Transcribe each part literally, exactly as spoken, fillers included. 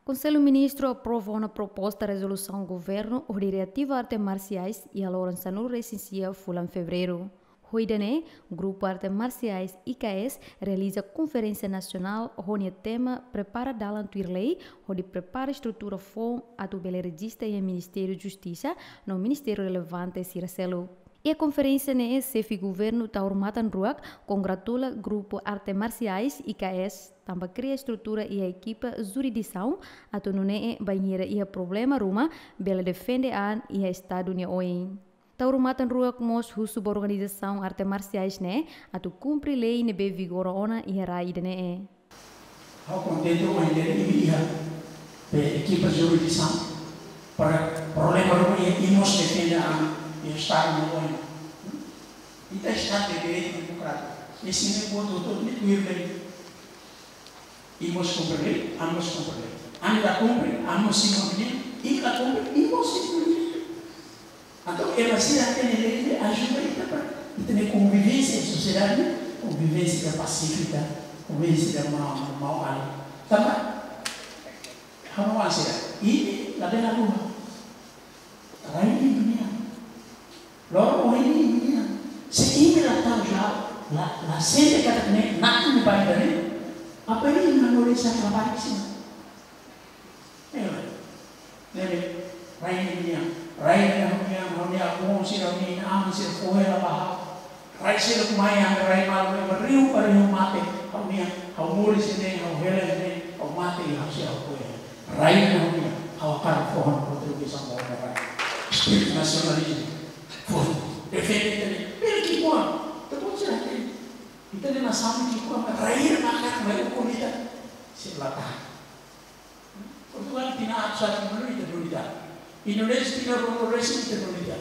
Konsellu Ministru aprova ona proposta rezolusaun governu hodi reativa arte marsiais iha loron sanulu-resin-sia fulan Fevereiru. Ho ida-ne'e, Grupu Arte Marsiais I K S realiza konferénsia nasionál ho nia tema Prepara Dalan Tuir Lei, hodi prepara estrutura foun atu bele rejista iha Ministériu Justisa no ministériu relevante sira seluk. Iha konferénsia ne'e, xefe governu Taur Matan Ruak kongratula Grupu Arte Marsiais I K S tanba kria estrutura iha ekipa jurisdisaun atu nune'e bainhira iha problema ruma bele defende an iha Estadu nia oin. Taur Matan Ruak mós husu ba organizasaun arte marsiais ne'e atu kumpre lei ne'ebé vigora ona iha rai ida-ne'e. Ha'u kontente ohin de'it imi iha be ekipa jurisdisaun para problema ruma iha, imi mós defende an iha Estadu nia oin. Ita Estadu de direitu demokrátiku. Imi-nia votu hotu-hotu ne'e tuir lei. Imi mós kumpre lei, ami mós kumpre lei. Ami la kumpre, ami mós simu ami-nian, imi la kumpre, imi mós simu imi-nian. Entaun, ema sira hatene lei ne'e ajuda ita para ita-nia konvivénsia, sosiedade, konvivénsia pasífika, konvivénsia mau, mau alin. Tanba, ha'u hanoin sira, imi labele haluha. Rai ne'e imi-nian. Loro oin ne'e imi-nian. Se imi la tau ja, la, la sente katak ne'e, na'in ne'e ba ita-nia, apa imi hanorin sá labarik sira? Ne'e, ne'e, rai ne'e imi-nian. Rai ne'e ha'u-nian, ha'u-nia avó sira, ha'u-nia inan-aman sira fó hela ba ha'u. Rai sira ne'ebé mai ami rai malu, ema riu ba riu mate, ha'u-nian, ha'u moris iha ne'e, ha'u hela iha ne'e, ha'u mate iha ne'e, ha'u sei ha'u ko'alia. Rai ne'e ha'u-nian, ha'u hakarak fó ha'u-nia kontribuisaun ba ha'u-nia rai. Espíritu nasionalizmu, fó, defende ita-nia. Bele ki'ikoan, ita-boot sira hatene. Ita-nia nasaun ki'ikoan, rai ne'e maka mai ukun ita. Sei la tahan. Portugál tinan atus haat-nulu ita duni ita. Indonézia tinan ruanulu-resin ita duni ita.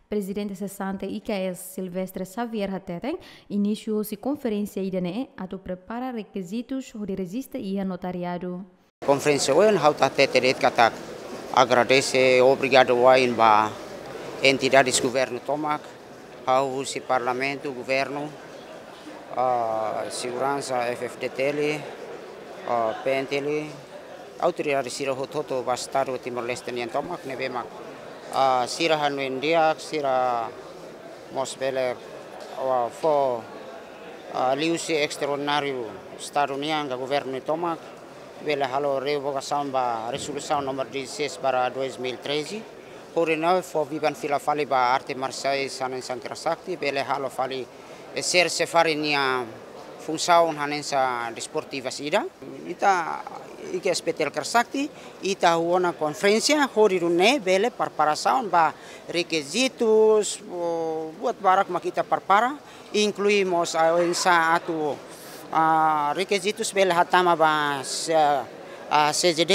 Prezidente sesante I K S, Silvestre Xavier hateten, inísiu hosi konferénsia ida-ne'e atu prepara rekizitus hodi rejista iha notariadu. Konferénsia ohin ha'u hatete de'it katak agradese, obrigadu wa'in ba entidades governu tomak, ha'u husi Parlamentu, governu, ah, seguransa, F F D T L, ah, P N T L, autoridade sira hotu-hotu ba Estadu Timor-Leste nian tomak ne'ebé mak, ah, sira hanoin di'ak, sira mós bele, ah, fó, ah, liuhusi estraordináriu Estadu nian ka governu tomak, bele halo revogasaun ba rezolusaun númeru dezasseis barra dois mil e treze, hodi nune'e fó biban fila fali ba arte marsiais hanesan kera sakti, bele halo fali, eh, ser sefari nia funsaun hanesan desportiva sira. Ita I K S P T L kera sakti, ita halo ona konferénsia, hodi nune'e bele preparasaun ba rekizitus, o, buat barak mak ita prepara, inklui mós, ah, oinsá atu, ah, rekizitus bele hatama ba, ah, C J D,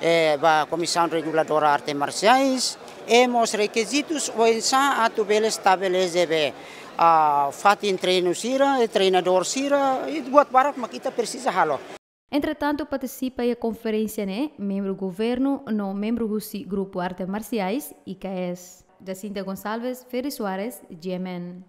eh, ba Komisaun Reguladora Arte Marsiais, i mós rekizitus oinsá atu bele estabelese be, ah, fatin treinu sira, i treinadór sira, i buat barak mak ita presiza halo. Entretantu, partisipa iha konferénsia ne'e membru governu no membru husi Grupu Arte Marsiais I K S. Jacinta Gonçalves, Ferry Soares, G M N.